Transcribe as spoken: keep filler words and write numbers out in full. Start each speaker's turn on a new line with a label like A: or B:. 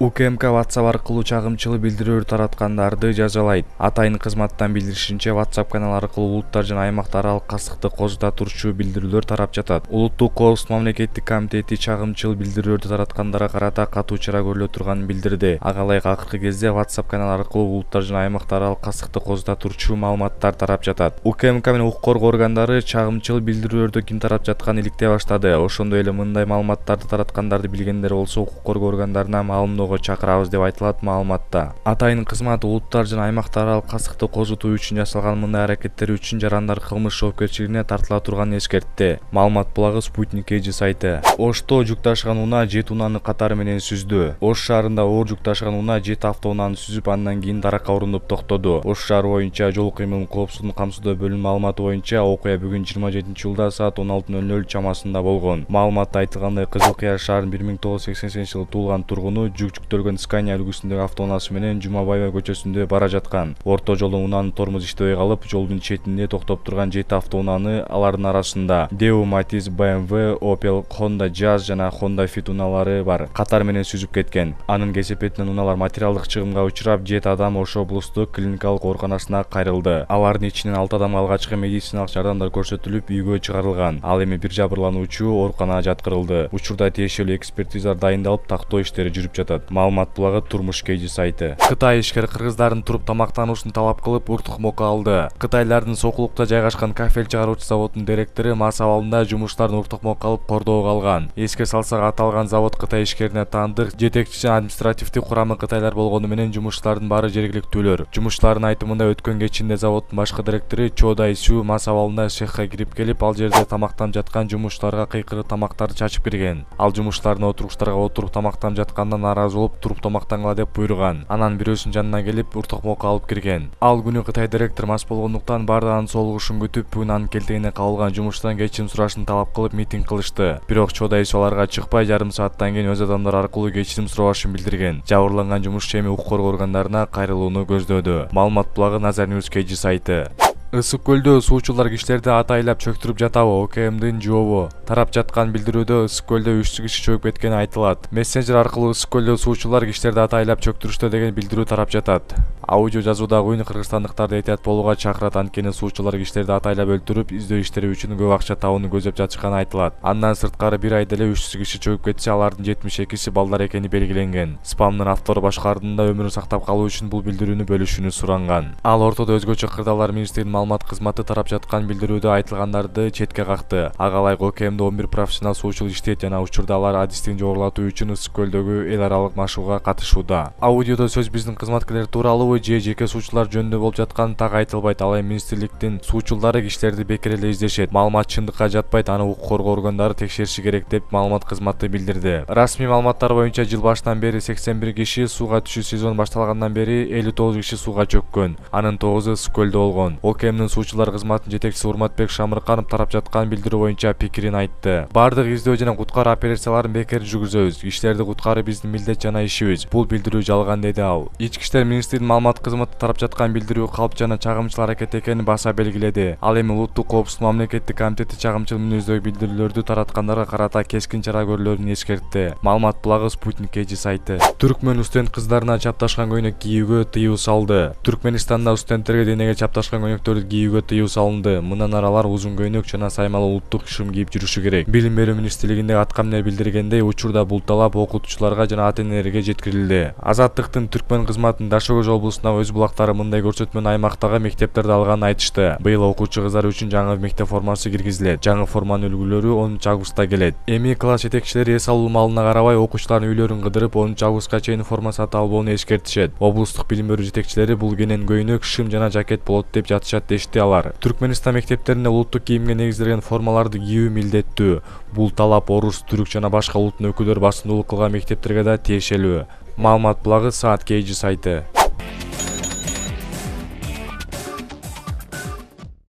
A: УКМК WhatsApp аркылуу чагымчыл билдирүүлөр тараткандарды жазалайт. Атайын кызматтан билдиришинче, WhatsApp канал аркылуу улуттар жана аймактар аралык касыкты козута турчу билдирүүлөр тарап жатат. Улуттук коопсуздук мамлекеттик комитети чагымчыл билдирүүлөрдү тараткандарга карата катуу чара көрүлө турганын билдирди. Ага ылайык акыркы кезде WhatsApp канал аркылуу улуттар жана аймактар аралык касыкты козута турчу маалыматтар тарап жатат. УКМК менен укук коргоо органдары чагымчыл билдирүүлөрдү ким тарап жатканын иликтей баштады. Ошондой эле мындай маалыматтарды тараткандарды билгендер болсо укук коргоо органдарына маалымдоого чакырабыз деп айтылат маалыматта. Атайын кызмат улуттар жана аймактар аралык касыкты козутуу үчүн жасалган мындай аракеттер үчүн жарандар кылмыш жоопкерчилигине тартыла турганын эскертти. Маалымат булагы Спутник Эжи сайты. Ошто жүк ташыган унаа жети унааны катары менен сүздү. Ош шаарында оор жүк ташыган унаа жети автоунааны сүзүп, андан кийин даракка урундуп токтоду. Ош шаары боюнча жол кыймылын коопсуздугун камсыздоо бөлүмүнүн маалыматы боюнча окуя бүгүн жыйырма жетинчи июлда саат он алты ноль ноль чамасында болгон. Маалыматта айтылгандай, Кызыл Кыяр шаарынын бир миң тогуз жүз сексен сегизинчи жылы туулган тургуну жүк жүктөлгөн Scania үлгүсүндөгү автоунаасы менен Жумабаева көчөсүндө бара жаткан. Орто жолдо унаанын тормозу иштебей калып, жолдун четинде токтоп турган жети автоунааны, алардын арасында Daewoo, Matiz, бэ эм вэ, Opel, Honda Jazz жана Honda Fit унаалары бар. Катар менен сүзүп кеткен. Анын кесепетинен унаалар материалдык чыгымга учурап, жети адам Ош облустук клиникалык ооруканасына кайрылды. Алардын ичинен алты адамга алгачкы медициналык жардамдар көрсөтүлүп, үйгө чыгарылган. Ал эми бир жабырлануучу ооруканага жаткырылды. Учурда тиешелүү экспертизалар дайындалып, тактоо иштери жүрүп жатат. Маалымат булагы Турмуш Кежи сайты. Кытай ишкер кыргыздардын туруп тамактануусун талап кылып, уртук моко алды. Кытайлардын Сокулукта жайгашкан кафель чыгаруучу заводунун директору мас абалында жумуштарын уртук моко алып кордоого алган. Эске салсак, аталган завод Кытай ишкерине таандык, жетекчи жана административдик курамы кытайлар болгону менен жумушчулардын баары жергиликтүүлөр. Жумушчулардын айтымында, өткөн кечинде заводдун башкы директору Чо Дай Сю мас абалында цехка кирип келип, ал жерде тамактанып жаткан жумушчуларга кыйкырып тамактарды чачып кирген. Ал жумушчулардын отургучтарга отуруп тамактанып жаткандан нааразы болуп, туруп тамактангыла деп буйруган. Анан бирөөсүнүн жанына келип, уртук моко алып кирген. Ал күнү Кытай директор мас болгондуктан баардыгынын соолугушун күтүп, бүгүн анын келтегине кабылган жумуштан кечирим сурашын талап кылып митинг кылышты. Бирок Чо Дай Сю аларга чыкпай, жарым сааттан кийин өз адамдары аркылуу кечирим сурабашын билдирген. Жабырланган жумушчу эми укук коргоо органдарына кайрылууну көздөөдө. Маалымат булагы Назар Ньюс Кежи сайты. Ысык көлдө суучулар кишилерди атайлап чөктүрүп жатабы? УКМдин жообу. Тарап жаткан билдирүүдө ысык көлдө үч киши чөгүп кеткени айтылат. Мессенджер аркылуу ысык көлдө суучулар кишилерди атайлап чөктүрүштө деген билдирүү тарап жатат. Аудио жазуудагы үн кыргызстандыктарды этият болууга чакырат, анткени суучулар кишилерди атайлап өлтүрүп, издөө иштери үчүн көп акча табууну көздөп жатышканы айтылат. Андан сырткары бир айда эле үч жүз киши чөгүп кетсе, алардын жетимиш экиси балдар экени белгиленген. Спамдын автору башкалардын да өмүрүн сактап калуу үчүн бул билдирүүнү бөлүшүүнү суранган. Ал ортодо өзгөчө кырдаалар министринин маалымат кызматы тарап жаткан билдирүүдө айтылгандарды четке какты. Ага ылайык ОКМдо он бир профессионал суучул иштейт жана учурда алар адистигин жогорулатуу үчүн ысык көлдөгү эл аралык машыгууга катышууда. Аудиодо сөз биздин кызматкерлер тууралуу же жеке суучулар жөнүндө болуп жатканы так айтылбайт. Ал эми министрликтин суучулдары кишилерди бекер эле издешет. Маалымат чындыкка жатпайт, аны укук коргоо органдары текшериши керек деп маалымат кызматы билдирди. Расмий маалыматтар боюнча жыл башынан бери сексен бир киши, сууга түшүү сезону башталгандан бери элүү тогуз киши сууга чөккөн. Анын тогузу ысык көлдө болгон. ОКМдин суучулар кызматынын жетекчиси Урматбек Шамырканов тарап жаткан билдирүү боюнча пикирин айтты. Бардык издөө жана куткаруу операцияларын бекер жүргүзөбүз. Кишилерди куткаруу биздин милдет жана ишибиз. Бул билдирүү жалган, деди ал. Ички иштер министринин маалымат кызматы тарап жаткан билдирүү калп жана чагымчыл аракет экенин баса белгиледи. Ал эми улуттук коопсуздук мамлекеттик комитети чагымчыл мүнөздөгү билдирүүлөрдү тараткандарга карата кескин чара көрүлөрүн эскертти. Маалымат булагы Спутник Эжи сайты. Түркмөн студент кыздарына чапташкан көйнөк кийүүгө тыюу салды. Түркмөнстанда студенттерге денеге чапташкан көйнөктөрдү кийүүгө тыюу салынды. Мындан ары алар узун көйнөк жана саймалы улуттук шым кийип жүрүшү керек. Билим берүү министрлигинде аткаминер билдиргендей, учурда бул талап окутуучуларга жана ата-энелерге жеткирилди. Азаттыктын Түркмөн кызматынын Дашогөз облусундагы өз булактары мындай көрсөтмөнү аймактагы мектептерде алганын айтышты. Быйыл окуучу кыздар үчүн жаңы мектеп формасы киргизилет. Жаңы форманын үлгүлөрү онунчу августта келет. Эми класс жетекчилери эс алуу маалына карабай окуучулардын үйлөрүн кыдырып, онунчу августка чейин форма сатып албоону эскертишет. Облустук билим берүү жетекчилери бул кенен көйнөк, шым жана жакет болот деп жатышат, дешти алар. Түркмөнстан мектептеринде улуттук кийимге негизделген формаларды кийүү милдеттүү. Бул талап орус, түрк жана башка улуттун өкүлдөрү басымдуулук кылган мектептерге да тиешелүү. Маалымат булагы Саат Кежи сайты.